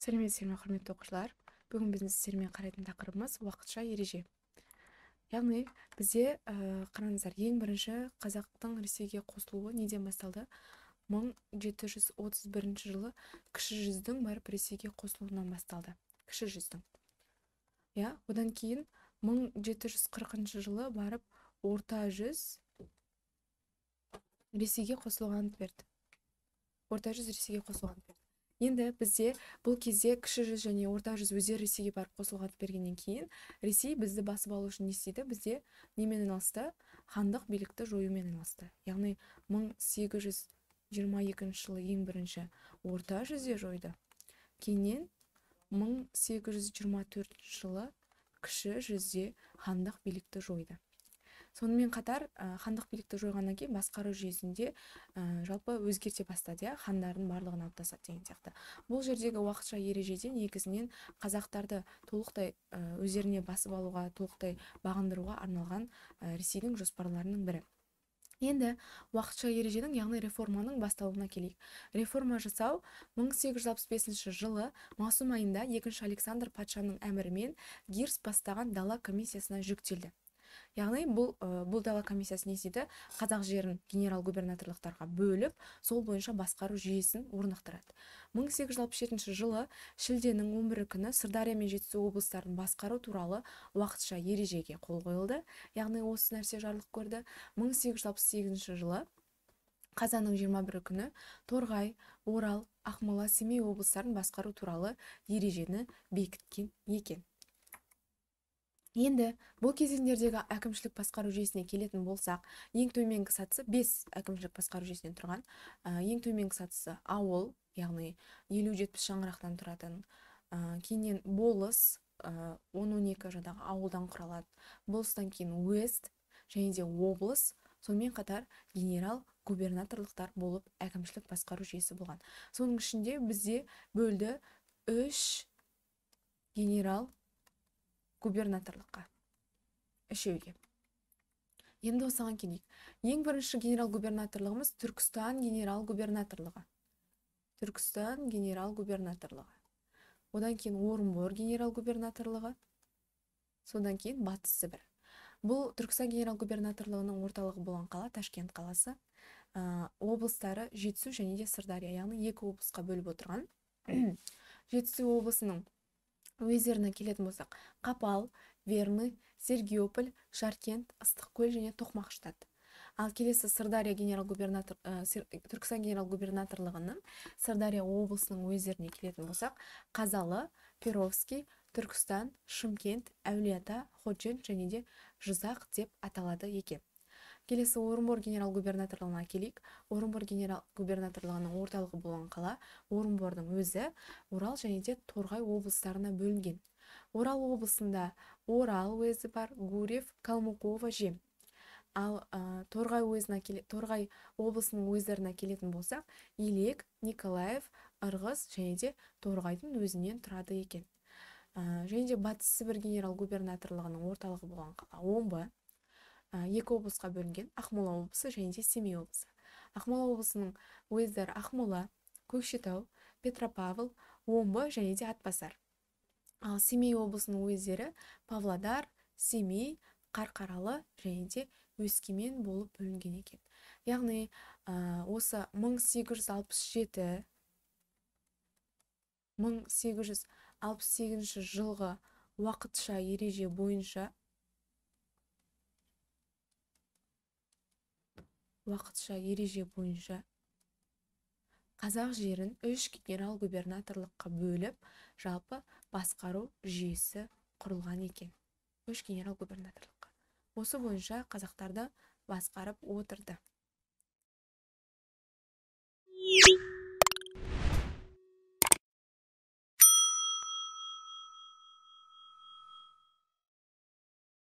Сәлеметсіздер ме, құрметті оқушылар. Бүгін біздің сіздермен қарайтын тақырыбымыз уақытша ереже. Яғни бізде қараңыздар, ең бірінші қазақтың Ресейге қосылуы неден басталды? 1731 жылы кіші жүздің барып Ресейге қосылуынан басталды. Кіші жүздің. Одан кейін 1740 жылы барып орта жүз Ресейге қосылуға ант берді. Орта жүз Ресейге қосылуға ант берді. Енді бізде бұл кезде кіші жүз және орта жүз өздері Ресейге барып қосылуға ант бергеннен кейін Ресей бізді басып алу үшін не істейді? Бізде немен айналысты? Хандық билікті жоюмен айналысты. Яғни 1822 жылы ең бірінші орта жүзде жойды. Кейіннен 1824 жылы кіші жүзде хандық билікті жойды. Сонымен қатар хандық билікті жойғаннан кейін басқару жүйесінде жалпы өзгерте бастады, хандардың барлығын алып тастады деген сияқты. Бұл жердегі уақытша ережеде негізінен қазақтарды толықтай өздеріне басып алуға, толықтай бағындыруға арналған Ресейдің жоспарларының бірі. Енді уақытша ереженің, яғни реформаның басталуына келейік. Реформа жасау 1865 жылы маусым айында 2-ші Александр патшаның әмірімен Гирс бастаған дала комиссиясына жүктелді. Яғни бұл дала комиссиясы не істейді? Қазақ жерін генерал-губернаторлықтарға бөліп, сол бойынша басқару жүйесін орнықтырады. 1867 жылы шілденің 11 күні Сырдария мен Жетісу облыстарын басқару туралы уақытша ережеге қол қойылды. Яғни осы нәрсе жарлық көрді. 1868 жылы қазанның 21 күні Торғай, Орал, Ақмола, Семей облыстарын басқару туралы ережені бекіткен екен. Енді бұл кезеңдердегі әкімшілік басқару жүйесіне келетін болсақ, ең төменгі сатысы 5 әкімшілік басқару жүйесінен тұрған. Ең төменгі сатысы ауыл, яғни 50-70 шаңырақтан тұратын. Кейіннен болыс, 10-12 жадағы ауылдан құралады. Болыстан кейін уезд және де облыс, сонымен қатар генерал-губернаторлықтар болып әкімшілік басқару жүйесі болған. Соның ішінде бізде бөлді 3 генерал-губернаторлыққа, үшеуге. Енді осыған келейік. Ең бірінші генерал-губернаторлығымыз Түркістан генерал-губернаторлығы. Түркістан генерал-губернаторлығы. Одан кейін Орынбор генерал-губернаторлығы. Содан кейін Батыс Сібір. Бұл Түркістан генерал-губернаторлығының орталығы болған қала Ташкент қаласы. Облыстары Жетісу және де Сырдария, яғни 2 облысқа бөліп отырған. Жетісу облысының уездеріне келетін болсақ, Қапал, Верный, Сергиополь, Жаркент, Ыстықкөл және Тоқмақ. Ал келесі Түркістан генерал-губернаторлығының Сырдария облысының уездеріне келетін болсақ, Қазалы, Перовский, Түркістан, Шымкент, Әулиеата, Ходжент және де Жизақ деп аталады екен. Келесі Орынбор генерал-губернаторлығына келейік. Орынбор генерал-губернаторлығының орталығы болған қала Орынбордың өзі Орал және де Торғай облыстарына бөлінген. Орал облысында Орал уезі бар, Гурьев, Калмыкова, Жем. Ал Торғай облысының уездеріне келетін болсақ, Елек, Николаев, Ырғыз және де Торғайдың өзінен тұрады екен. Және де Батыс Сібір генерал-губернаторлығының орталығы болған қала Омбы. 2 облысқа бөлінген, Ақмола облысы және де Семей облысы. Ақмола облысының уездері Ақмола, Көкшетау, Петропавл, Омбы және де Атбасар. Ал Семей облысының уездері Павлодар, Семей, Қарқаралы және де Өскемен болып бөлінген екен. Яғни осы 1868 жылғы уақытша ереже бойынша қазақ жерін 3 генерал-губернаторлыққа бөліп, жалпы басқару жүйесі құрылған екен. 3 генерал-губернаторлыққа. Осы бойынша қазақтарды басқарып отырды.